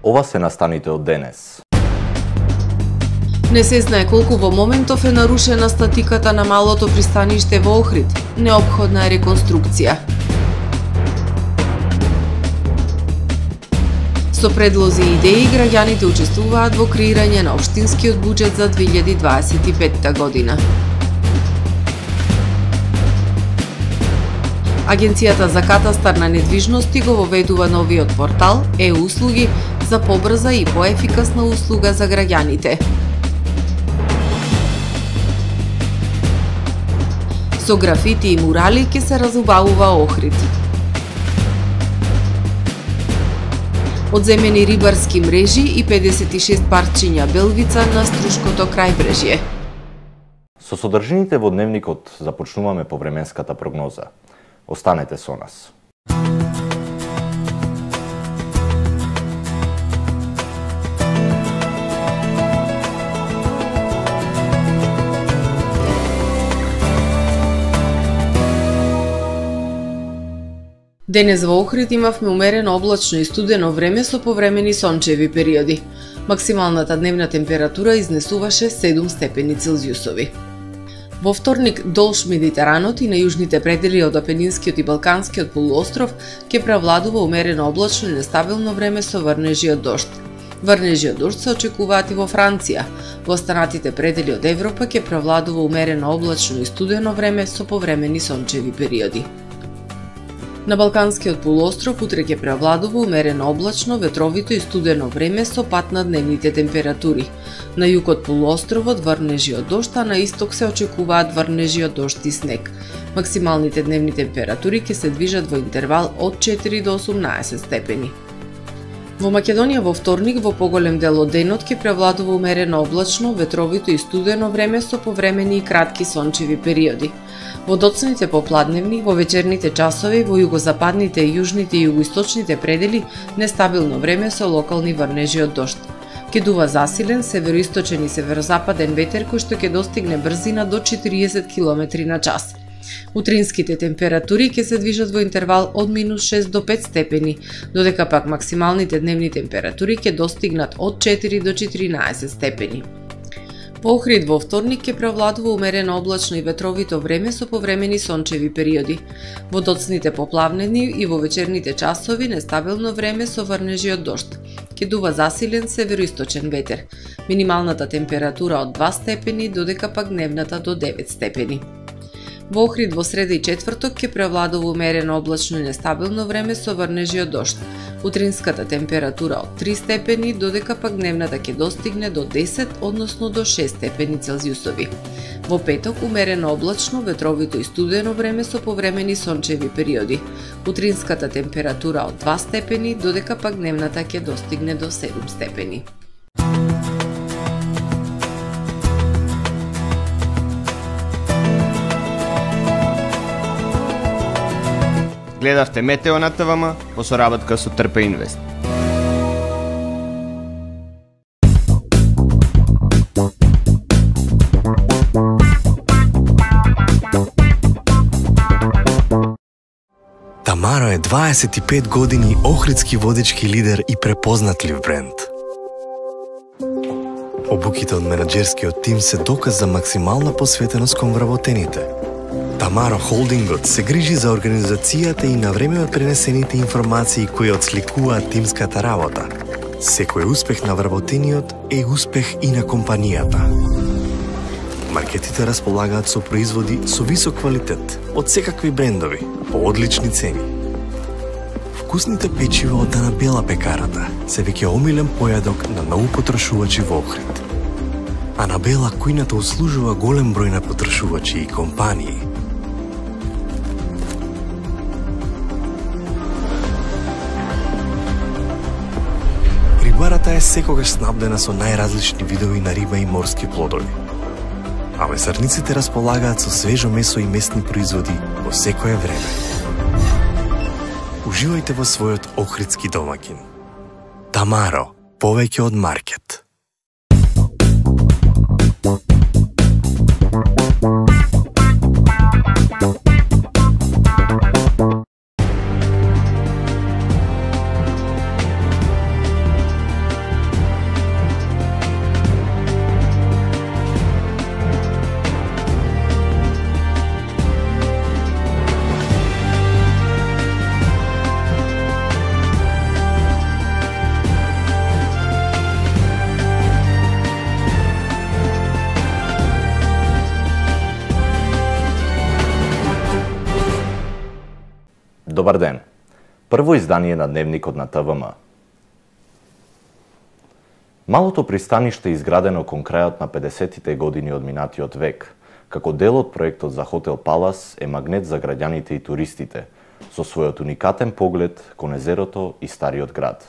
Ова се настаните од денес. Не се знае колку во моментов е нарушена статиката на малото пристаниште во Охрид. Неопходна е реконструкција. Со предлози и идеи, граѓаните учествуваат во креирање на општинскиот буџет за 2025 година. Агенцијата за катастар на недвижности го воведува новиот портал e-услуги за побрза и поефикасна услуга за граѓаните. Со графити и мурали ќе се разубавува Охрид. Одземени рибарски мрежи и 56 парчиња белвица на Струшкото крајбрежје. Со содржините во дневникот започнуваме повременската прогноза. Останете со нас. Денес во Охрид имавме умерено облачно и студено време со повремени сончеви периоди. Максималната дневна температура изнесуваше 7 степени Целзиусови. Во вторник долж Медитеранот и на јужните предели од Апенинскиот и Балканскиот полуостров ќе превладува умерено облачно и нестабилно време со врнежи од дожд. Врнежи од дожд се очекуваат и во Франција. Во останатите предели од Европа ќе превладува умерено облачно и студено време со повремени сончеви периоди. На Балканскиот полуостров утре ќе превладува умерено облачно, ветровито и студено време со пад на дневните температури. На југ од полуостровот врнежи од дожд, а на исток се очекуваат врнежи од дожд и снег. Максималните дневни температури ќе се движат во интервал од 4 до 18 степени. Во Македонија во вторник во поголем дел од денот ќе превладува умерено облачно, ветровито и студено време со повремени и кратки сончеви периоди. Во доцните попладневни, во вечерните часови, во југозападните, јужните и југоисточните предели нестабилно време со локални врнежи од дожд. Ќе дува засилен североисточен и северозападен ветер кој што ќе достигне брзина до 40 км на час. Утринските температури ќе се движат во интервал од -6 до 5 степени, додека пак максималните дневни температури ќе достигнат од 4 до 14 степени. Во Охрид во вторник ќе превладува умерено облачно и ветровито време со повремени сончеви периоди. Во доцните поплавнени и во вечерните часови нестабилно време со врнежи од дожд. Ќе дува засилен североисточен ветер. Минималната температура од 2 степени, додека пак дневната до 9 степени. Во Охрид во среда и четврток ќе превладува умерено облачно и нестабилно време со врнежи од дожд. Утринската температура од 3 степени, додека пак дневната ќе достигне до 10, односно до 6 степени Целзиусови. Во петок умерено облачно, ветровито и студено време со повремени сончеви периоди. Утринската температура од 2 степени, додека пак дневната ќе достигне до 7 степени. Гледавте Метео на ТВМ во соработка со Трпе Инвест. Тамаро е 25 години охридски водечки лидер и препознатлив бренд. Обуките од менаџерскиот тим се доказ за максимална посветеност кон вработените. Тамаро Холдингот се грижи за организацијата и на време од пренесените информации кои отсликуваат тимската работа. Секој успех на вработениот е успех и на компанијата. Маркетите располагаат со производи со висок квалитет од секакви брендови по одлични цени. Вкусните печива од Дана Бела пекарата се веќе омилен појадок на многу потрошувачи во Охрид. Анабела кујната услужува голем број на потрошувачи и компании. Рибарата е секогаш снабдена со најразлични видови на риба и морски плодови. А месарниците располагаат со свежо месо и месни производи во секое време. Уживајте во својот охридски домаќин. Тамаро, повеќе од маркет. Добар ден. Прво издание на Дневникот на ТВМ. Малото пристаниште изградено кон крајот на 50-тите години од минатиот век, како дел од проектот за хотел Палас, е магнет за граѓаните и туристите, со својот уникатен поглед кон езерото и стариот град.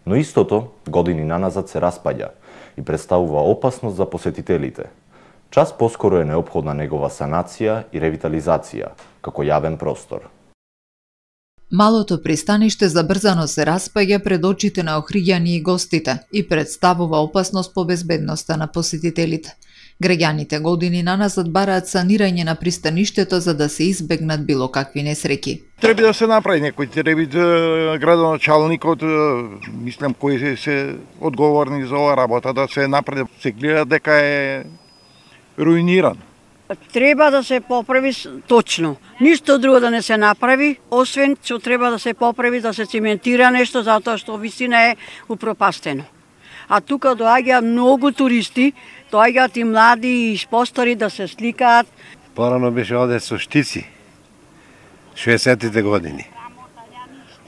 Но истото години наназад се распаѓа и представува опасност за посетителите. Час поскоро е неопходна негова санација и ревитализација, како јавен простор. Малото пристаниште забрзано се распаѓа пред очите на охриѓани и гостите и представува опасност по безбедноста на посетителите. Граѓаните години наназад бараат санирање на пристаништето за да се избегнат било какви несреќи. Треба да се направи некој, треба градоначалникот, мислам кои се одговорни за оваа работа, да се направи, се гледа дека е руиниран. Треба да се поправи точно. Ништо друго да не се направи, освен што треба да се поправи, да се циментира нешто, затоа што вистина е упропастено. А тука доаѓа многу туристи, доаѓаат и млади и постари да се сликаат. Порано беше оде со штици, 60-тите години.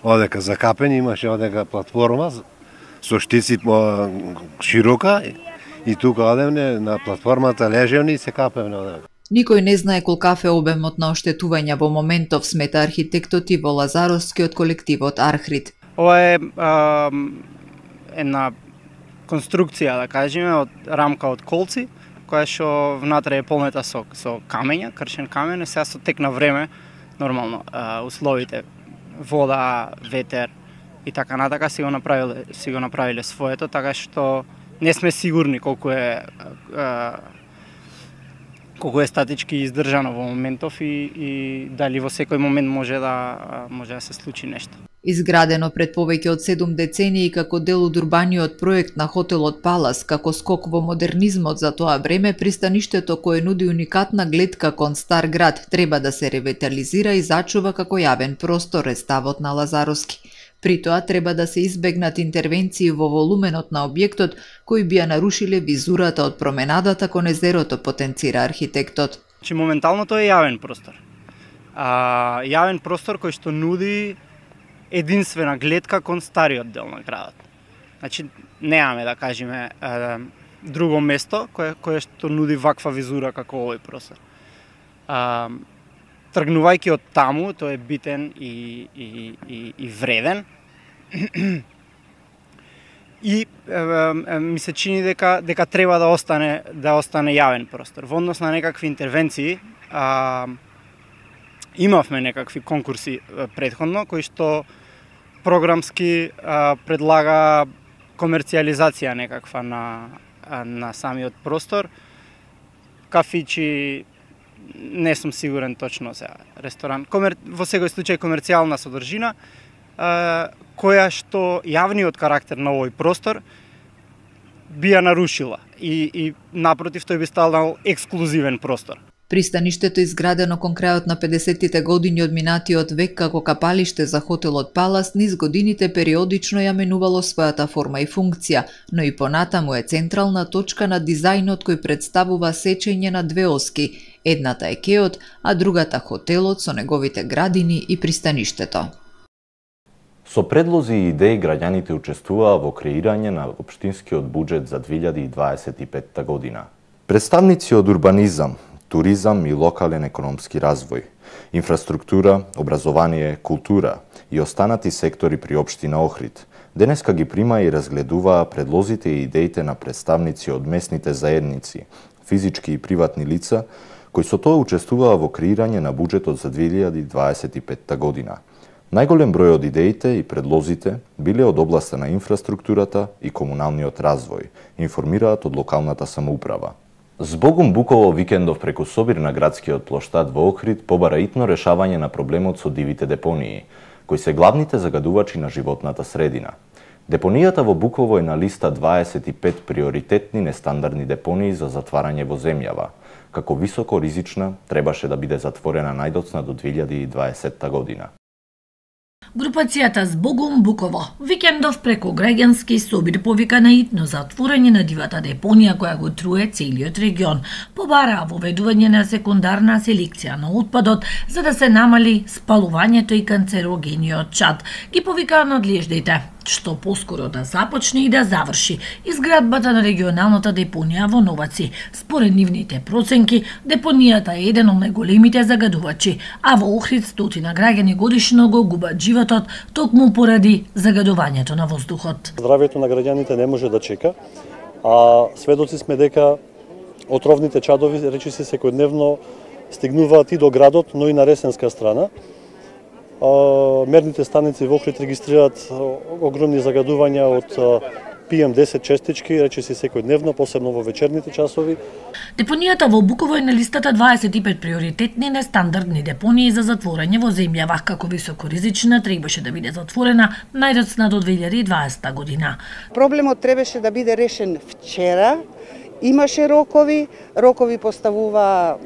Одека закапени, имаше одека платформа со штици широка и тука одевне на платформата лежевни и се капевне одека. Никој не знае колкав е обемот на оштетување во моментов, смета архитектот Иво Лазаровски од колективот Архрид. Ова е една конструкција, да кажеме, од рамка од колци, која што внатре е полнета со камења, кршен камен, сега со тек на време, нормално, условите, вода, ветер и така натака си го направиле своето, така што не сме сигурни колку е статички издржано во моментов и дали во секој момент може да се случи нешто. Изградено пред повеќе од 7 децении како дел од урбаниот проект на хотелот Палас, како скок во модернизмот за тоа време, пристаништето кое нуди уникатна гледка кон стар град треба да се ревитализира и зачува како јавен простор, е ставот на Лазаровски. При тоа треба да се избегнат интервенции во волуменот на објектот кои би ја нарушиле визурата од променадата кон езерото, потенцира архитектот. Моментално тоа е јавен простор. Јавен простор кој што нуди единствена гледка кон стариот дел на градот. Значи, немаме, да кажеме, друго место кое што нуди ваква визура како овој простор. Тргнувајќи од таму, тој е битен и вреден. И ми се чини дека треба да остане јавен простор. Во однос на некакви интервенции, имавме некакви конкурси претходно кои што програмски предлага комерцијализација некаква на самиот простор. Кафичи, не сум сигурен точно сега, ресторан, во секој случај комерцијална содржина, која што јавниот карактер на овој простор би ја нарушила и напротив тој би станал ексклузивен простор. Пристаништето изградено кон крајот на 50-тите години од минатиот век како капалиште за хотелот Палас, низ годините периодично ја менувало својата форма и функција, но и понатаму е централна точка на дизајнот кој представува сечење на две оски, едната е кеот, а другата хотелот со неговите градини и пристаништето. Со предлози и идеи граѓаните учествуваа во креирање на општинскиот буџет за 2025 година. Представници од урбанизам, туризам и локален економски развој, инфраструктура, образование, култура и останати сектори при општина Охрид денеска ги прима и разгледуваа предлозите и идеите на представници од местните заедници, физички и приватни лица, кои со тоа учествуваа во креирање на буџетот за 2025 година. Најголем број од идеите и предлозите биле од областа на инфраструктурата и комуналниот развој, информираат од локалната самоуправа. Збогум Буково викендов преку собир на градскиот плоштад во Охрид побара итно решавање на проблемот со дивите депонии, кои се главните загадувачи на животната средина. Депонијата во Буково е на листа 25 приоритетни нестандардни депонии за затварање во земјава. Како високо ризична, требаше да биде затворена најдоцна до 2020 година. Групацијата Збогум Буково викендов преку граѓански собир повика на итно затворање на дивата депонија која го труе целиот регион. Побараа воведување на секундарна селекција на отпадот за да се намали спалувањето и канцерогениот чад. Ги повикаа надлежните што поскоро да започне и да заврши изградбата на регионалната депонија во Новаци. Според нивните проценки, депонијата е еден од најголемите загадувачи, а во Охрид стотина граѓани годишно го губат животот токму поради загадувањето на воздухот. Здравјето на граѓаните не може да чека, а сведоци сме дека отровните чадови речиси секојдневно стигнуваат и до градот, но и на ресенска страна. Мерните станици во Охрид регистрираат огромни загадувања од PM10 честички, речиси секојдневно, посебно во вечерните часови. Депонијата во Буково е на листата 25 приоритетни нестандардни депонии за затворање во земјава, како високоризична требаше да биде затворена најдоцна до 2020 година. Проблемот требаше да биде решен вчера, имаше рокови поставува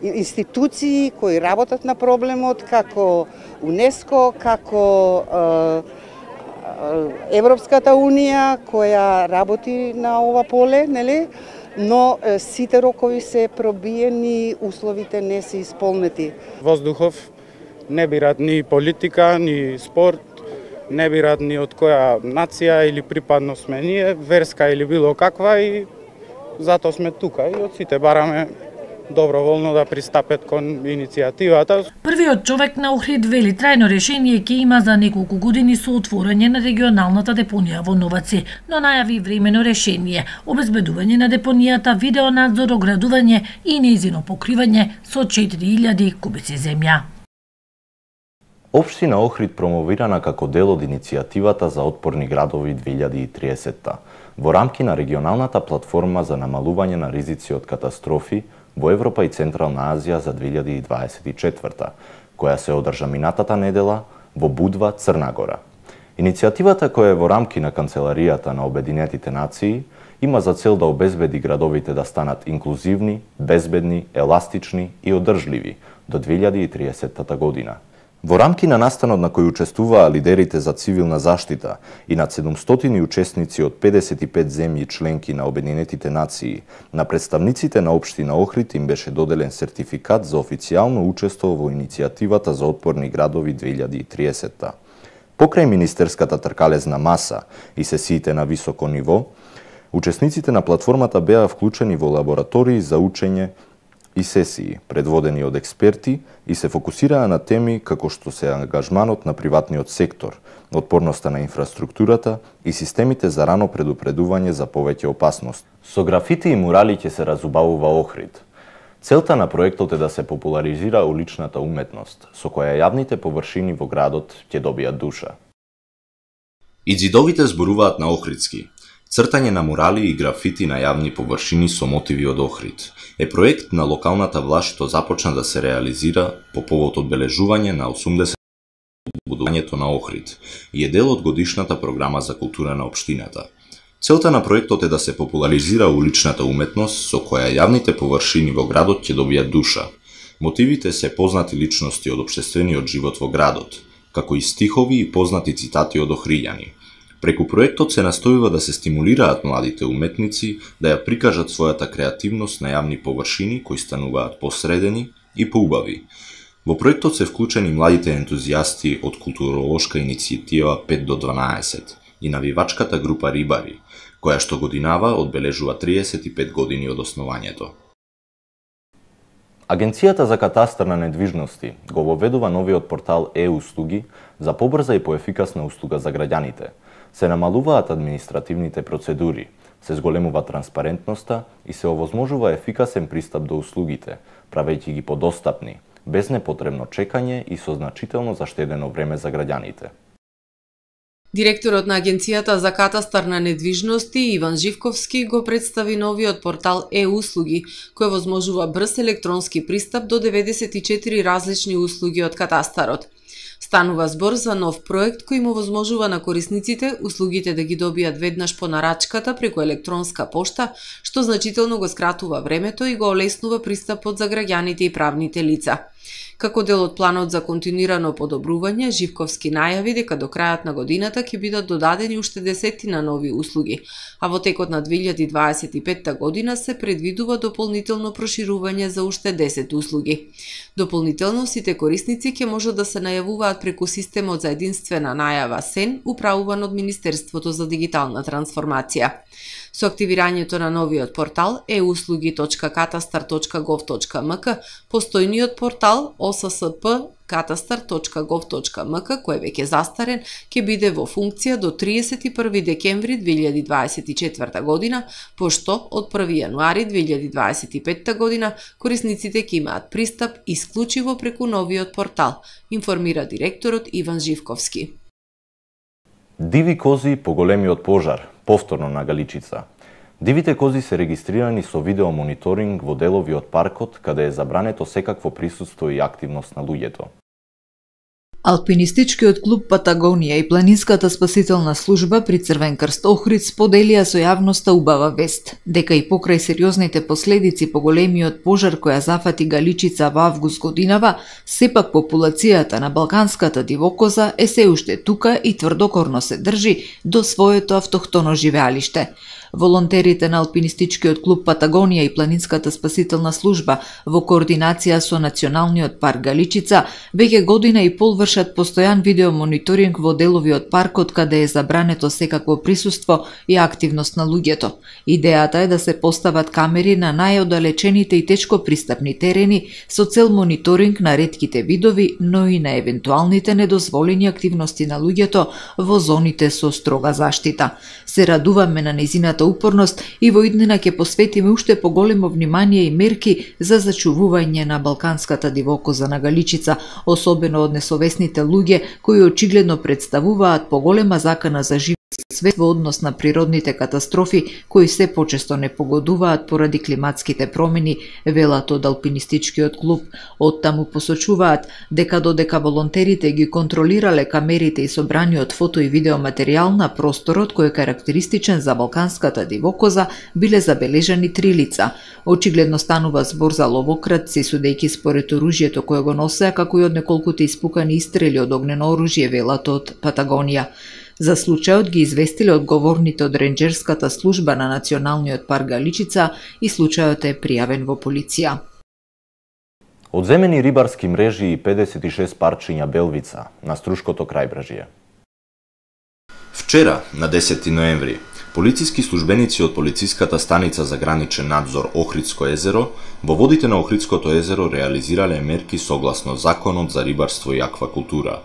институции кои работат на проблемот, како УНЕСКО, како Европската Унија, која работи на ова поле, нели? Но сите рокови се пробиени, условите не се исполнети. Воздухов не бират ни политика, ни спорт, не бират ни од која нација или припадност сме ние, верска или било каква, и затоа сме тука и од сите бараме доброволно да пристапат кон иницијативата. Првиот човек на Охрид вели трајно решение ќе има за неколку години со отворање на регионалната депонија во Новаци, но најави времено решение, обезбедување на депонијата, видеонадзор, оградување и нејзино покривање со 4000 кубици земја. Општина Охрид промовирана како дел од иницијативата за отпорни градови 2030 во рамки на регионалната платформа за намалување на ризици од катастрофи во Европа и Централна Азија за 2024, која се одржа минатата недела во Будва, Црна Гора. Иницијативата, која е во рамки на Канцеларијата на Обединетите нации, има за цел да обезбеди градовите да станат инклузивни, безбедни, еластични и одржливи до 2030 година. Во рамки на настанот на кој учествуваа лидерите за цивилна заштита и над 700 учесници од 55 земји членки на Обединетите нации, на представниците на општина Охрид им беше доделен сертификат за официјално учество во иницијативата за отпорни градови 2030. Покрај министерската тркалезна маса и сесиите на високо ниво, учесниците на платформата беа вклучени во лаборатории за учење и сесии, предводени од експерти, и се фокусираа на теми како што се ангажманот на приватниот сектор, отпорноста на инфраструктурата и системите за рано предупредување за повеќе опасност. Со графити и мурали ќе се разубавува Охрид. Целта на проектот е да се популаризира уличната уметност, со која јавните површини во градот ќе добијат душа. И ѕидовите зборуваат на охридски. Цртање на мурали и графити на јавни површини со мотиви од Охрид е проект на локалната власт што започна да се реализира по повод одбележување на 80 будувањето на Охрид и е дел од годишната програма за култура на општината. Целта на проектот е да се популаризира уличната уметност со која јавните површини во градот ќе добијат душа. Мотивите се познати личности од општествениот живот во градот, како и стихови и познати цитати од охриѓани. Преку проектот се настојува да се стимулираат младите уметници да ја прикажат својата креативност на јавни површини кои стануваат посредени и поубави. Во проектот се вклучени младите ентузијасти од културолошка иницијатива 5 до 12 и навивачката група Рибари, која што годинава одбележува 35 години од основањето. Агенцијата за катастар на недвижности го воведува новиот портал e-услуги за побрза и поефикасна услуга за граѓаните. Се намалуваат административните процедури, се зголемува транспарентноста и се овозможува ефикасен пристап до услугите, правејќи ги подостапни, без непотребно чекање и со значително заштедено време за граѓаните. Директорот на Агенцијата за катастар на недвижности Иван Живковски го представи новиот портал e-услуги, кој возможува брз електронски пристап до 94 различни услуги од катастарот. Станува збор за нов проект кој му возможува на корисниците услугите да ги добијат веднаш по нарачката преку електронска пошта, што значително го скратува времето и го олеснува пристапот за граѓаните и правните лица. Како дел од планот за континуирано подобрување, Живковски најави дека до крајот на годината ќе бидат додадени уште десетина нови услуги, а во текот на 2025 година се предвидува дополнително проширување за уште 10 услуги. Дополнително, сите корисници ќе можат да се најавуваат преку системот за единствена најава СЕН, управуван од Министерството за дигитална трансформација. Со активирањето на новиот портал euslugi.katastar.gov.mk, постојниот портал ossp.katastar.gov.mk, кој е веќе застарен, ќе биде во функција до 31 декември 2024 година, пошто од 1 јануари 2025 година корисниците ќе имаат пристап исклучиво преку новиот портал, информира директорот Иван Живковски. Диви кози по големиот пожар, повторно на Галичица. Дивите кози се регистрирани со видеомониторинг во делови од паркот, каде е забрането секакво присуство и активност на луѓето. Алпинистичкиот клуб Патагонија и Планинската спасителна служба при Црвен крст Охрид споделија со јавноста убава вест, дека и покрај сериозните последици по големиот пожар која зафати Галичица во август годинава, сепак популацијата на балканската дивокоза е се уште тука и тврдокорно се држи до своето автохтоно живеалиште. Волонтерите на Алпинистичкиот клуб Патагонија и Планинската спасителна служба во координација со Националниот парк Галичица веќе година и пол вршат постојан видеомониторинг во делови од паркот каде е забрането секакво присуство и активност на луѓето. Идејата е да се постават камери на најоддалечените и тешко пристапни терени со цел мониторинг на ретките видови, но и на евентуалните недозволени активности на луѓето во зоните со строга заштита. Се радуваме на нејзината упорност и во иднина ќе посветиме уште поголемо внимание и мерки за зачувување на балканската дивокоза на Галичица, особено од несовесните луѓе кои очигледно представуваат поголема закана за живот свет во однос на природните катастрофи кои се почесто не погодуваат поради климатските промени, велат од Алпинистичкиот клуб. Оттаму посочуваат дека додека волонтерите ги контролирале камерите и собраниот фото и видеоматеријал на просторот кој е карактеристичен за балканската дивокоза, биле забележани 3 лица. Очигледно станува збор за ловократци, судејќи според оружјето кое го носеа, како и од неколкуте испукани истрели од огнено оружје, велат од Патагонија. За случајот ги известиле одговорните од ренџерската служба на Националниот парк Галичица и случајот е пријавен во полиција. Одземени рибарски мрежи и 56 парчиња белвица на Струшкото крајбрежје. Вчера, на 10 ноември, полициски службеници од полициската станица за граничен надзор Охридско езеро во водите на Охридското езеро реализирале мерки согласно Законот за рибарство и аквакултура.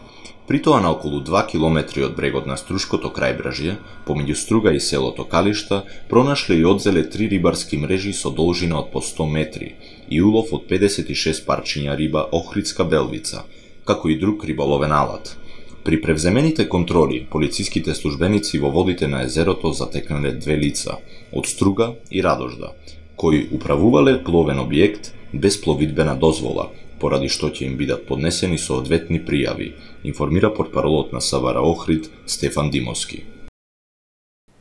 При тоа на околу 2 километри од брегот на Струшкото крајбрежје, помеѓу Струга и селото Калишта, пронашле и одзеле 3 рибарски мрежи со должина од по 100 метри и улов од 56 парчиња риба охридска белвица, како и друг риболовен алат. При превземените контроли, полициските службеници во водите на езерото затекнале 2 лица, од Струга и Радожда, кои управувале пловен објект без пловидбена дозвола, поради што ќе им бидат поднесени соодветни пријави, информира портпаролот на СВР Охрид Стефан Димовски.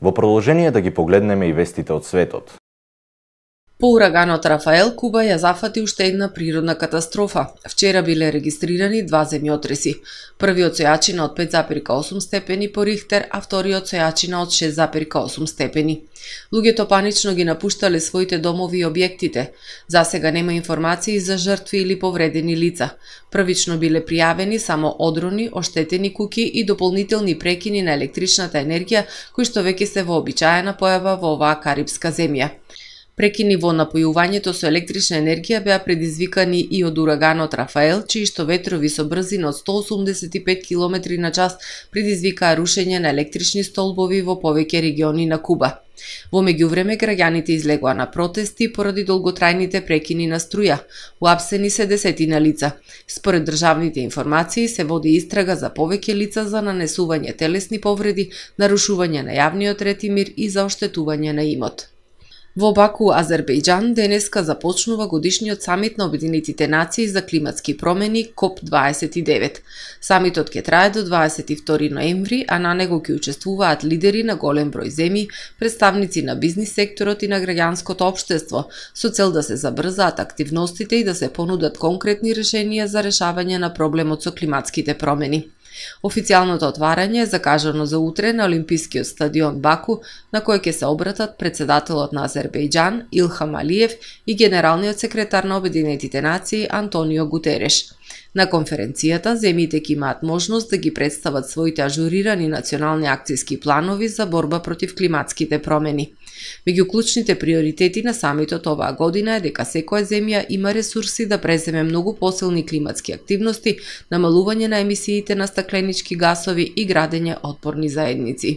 Во продолжение да ги погледнеме и вестите од светот. По ураганот Рафаел, Куба ја зафати уште една природна катастрофа. Вчера биле регистрирани 2 земјотреси. Првиот со јачина од 5,8 степени по Рихтер, а вториот со јачина од 6,8 степени. Луѓето панично ги напуштале своите домови и објектите. За сега нема информации за жртви или повредени лица. Првично биле пријавени само одрони, оштетени куќи и дополнителни прекини на електричната енергија, кои што веќе се вообичаена појава во оваа карипска земја. Прекини во напојувањето со електрична енергија беа предизвикани и од ураганот Рафаел, чии што ветрови со брзина од 185 км на час предизвикаа рушење на електрични столбови во повеќе региони на Куба. Во меѓувреме, граѓаните излегоа на протести поради долготрајните прекини на струја. Уапсени се десетина лица. Според државните информации се води истрага за повеќе лица за нанесување телесни повреди, нарушување на јавниот ред и мир и за оштетување на имот. Во Баку, Азербејџан, денеска започнува годишниот самит на Обединетите нации за климатски промени КОП-29. Самитот ќе трае до 22 ноември, а на него ќе учествуваат лидери на голем број земји, представници на бизнис секторот и на граѓанското општество, со цел да се забрзаат активностите и да се понудат конкретни решенија за решавање на проблемот со климатските промени. Официјалното отварање е закажано за утре на Олимпискиот стадион Баку, на кој ќе се обратат председателот на Азербејџан Илхам Алиев и генералниот секретар на Обединетите нации Антонио Гутереш. На конференцијата земјите ќе имаат можност да ги представат своите ажурирани национални акцијски планови за борба против климатските промени. Меѓу клучните приоритети на самитот оваа година е дека секоја земја има ресурси да преземе многу посилни климатски активности, намалување на емисиите на стакленички гасови и градење отпорни заедници.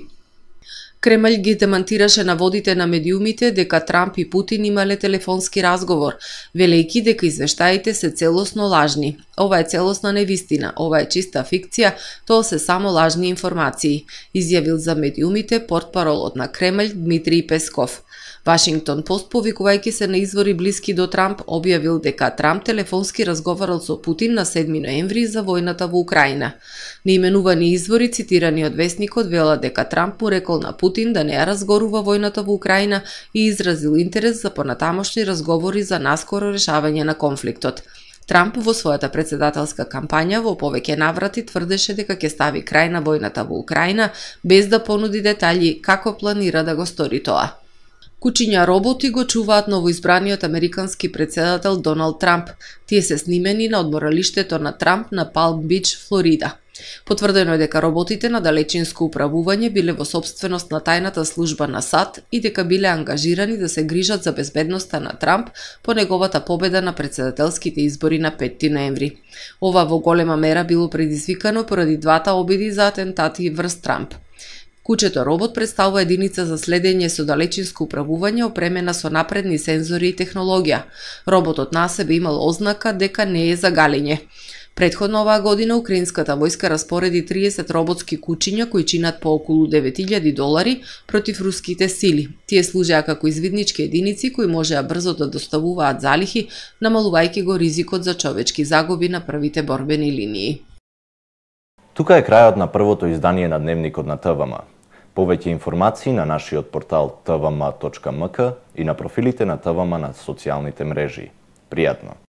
Кремљ ги демантираше наводите на медиумите дека Трамп и Путин имале телефонски разговор, велејќи дека извештаите се целосно лажни. Ова е целосна невистина, ова е чиста фикција, тоа се само лажни информации, изјавил за медиумите портпаролот на Кремљ Дмитрий Песков. Вашингтон Пост, повикувајќи се на извори блиски до Трамп, објавил дека Трамп телефонски разговарал со Путин на 7 ноември за војната во Украина. Неименувани извори цитирани од весникот велат дека Трамп му рекол на Путин да не ја разгорува војната во Украина и изразил интерес за понатамошни разговори за наскоро решавање на конфликтот. Трамп во својата председателска кампања во повеќе наврати тврдеше дека ќе стави крај на војната во Украина без да понуди детали како планира да го стори тоа. Кучиња роботи го чуваат новоизбраниот американски председател Доналд Трамп. Тие се снимени на одморалиштето на Трамп на Палм Бич, Флорида. Потврдено е дека роботите на далечинско управување биле во собственост на тајната служба на САД и дека биле ангажирани да се грижат за безбедноста на Трамп по неговата победа на председателските избори на 5 ноември. Ова во голема мера било предизвикано поради двата обиди за атентати врз Трамп. Кучето робот представува единица за следење со далечинско управување опремена со напредни сензори и технологија. Роботот на себе имал ознака дека не е за галење. Претходно оваа година украинската војска распореди 30 роботски кучиња кои чинат по околу $9,000 против руските сили. Тие служеа како извиднички единици кои можеа брзо да доставуваат залихи, намалувајќи го ризикот за човечки загуби на првите борбени линии. Тука е крајот на првото издание на Дневникот на ТВМ. Повеќе информации на нашиот портал tvma.mk и на профилите на ТВМ на социјалните мрежи. Пријатно!